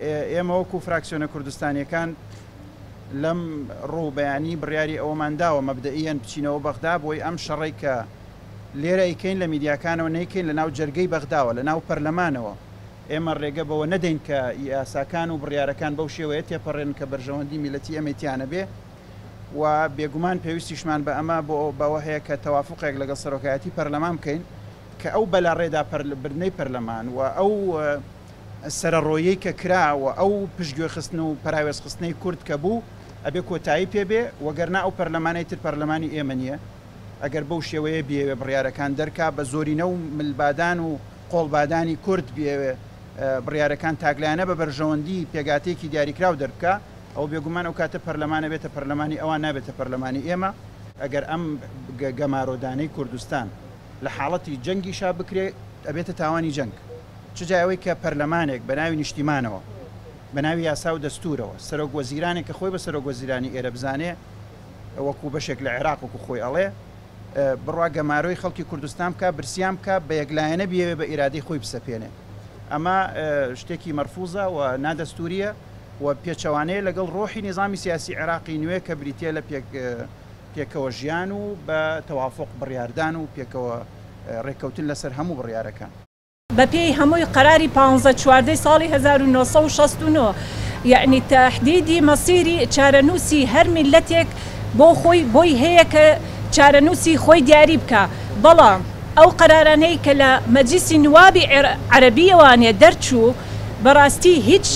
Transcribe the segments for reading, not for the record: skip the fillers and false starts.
ئێمە وەکو فراکسیۆنە کوردستانیەکان لەم ڕوو بەیانی بڕیاری ئەوەمان داوە مەبدەئیەن بچینەوە بەغدا بۆی ئەم شەڕەی کە لێرە ئەیکەین لە میدیاکانەوە نەیکەین لە ناو جەرگەی بەغداوە لە ناو پەرلەمانەوە ئێمە ڕێگە بەوە نەدەین کە یاساکان و بڕیارەکان بەو شێوەیە تێپەڕێنن کە بەرژەوەندی میللەتی ئێمەی تیا نەبێ و بێگومان پێویستیشمان بە ئەمە بۆ بەوە هەیە کە تەوافوقێک لەگەڵ سەرۆکایەتی پەرلەمان بکەین کە ئەو بەلاڕێدا بردنەی پەرلەمان و ئەو سەرەڕۆییەی کە کرا و ئەو پشتگوێخستن و پەراوێزخستنەی کورد کە بوو ئەبێ کۆتایی پێ بێ، وەگەرنا ئەو پەرلەمانەی تر پەرلەمانی ئێمە نییە، ئەگەر بەو شێوەیە بیەوێ بڕیارەکان دەرکا، بە زۆرینە و ملبادان و قۆڵبادانی کورد بیەوێ بڕیارەکان تاکلایەنە بە بەرژەوەندی پێگاتەیەکی دیاریکراو دەربکا، ئەوە بێگومان ئەو کاتە پەرلەمان ئەبێتە پەرلەمانی ئەوان نابێتە پەرلەمانی ئێمە. ئەگەر ئەم گەمارۆدانەی کوردستان لە حاڵەتی جەنگیشا بکرێ ئەبێتە تاوانی جەنگ. چ جای ئەوەی کە پەرلەمانێک بە ناوی نیشتیمانەوە، بە ناوی یاسا و دەستوورەوە، سەرۆک وەزیرانێک کە خۆی بە سەرۆک وەزیرانی ئێرە بزانێ، وەکوو بەشێک لە عێراق وەکوو خۆی ئەڵێ، بڕوا گەمارۆی خەڵکی کوردستان بکا، برسیان بکا، بە یەکلایەنە بیەوێ بە ئیرادەی خۆی بسەپێنێ. ئەمە شتێکی مەرفوزە و نادەستوورییە و پێچەوانەیە لەگەڵ ڕۆحی نیزامی سیاسی عێراقی نوێ کە بریتییە لە پێک پێکەوە ژیان و بە تەوافوق بڕیاردان و پێکەوە ڕێککەوتن لەسەر هەموو بڕیارەکان. بە پێی هەمووی قەراری پانزە چواردەی ساڵی 1969 یەعنی تەحدیدی مەسیری چارەنووسی هەر میللەتێک بۆ خۆی بۆی هەیە کە چارەنووسی خۆی دیاری بکا بەڵام ئەو قەرارانەی کە لە مەجلیسی نوابی عەرەبیەوانێ دەرچوو بەڕاستی هیچ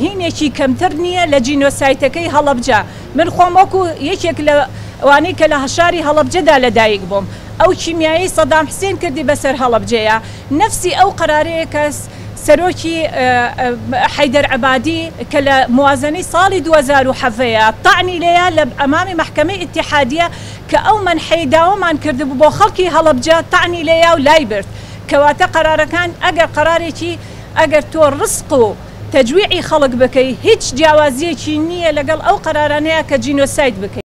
هینێکی کەمتر نییە لە جینۆسایتەکەی هەڵەبجە من خۆم وەکو یەکێک لە وانەی کە لە شاری هەڵەبجەدا لەدایک بووم ئەو کیمیایەی سەدام حسێن کردی بەسەر هەڵەبجەیا نەفسی ئەو قەرارەیە کە سەرۆکی حەیدەر عەبادی کە لە موازەنەی ساڵی 2017 یا تەعنی لێیا لە ئەمامی مەحکەمەی ئیتیحادیە کە ئەو مەنحەی داوامان کردبوو بۆ خەڵکی هەڵەبجە تەعنی لێیا و لای برد کەواتە قەرارەکان ئەگەر قەرارێکی ئەگەر تۆ ڕسق و تەجویعی خەڵک بکەی هیچ جیاوازیەکی نیە لەگەڵ ئەو قەرارانەیا کە جینۆساید بکەی.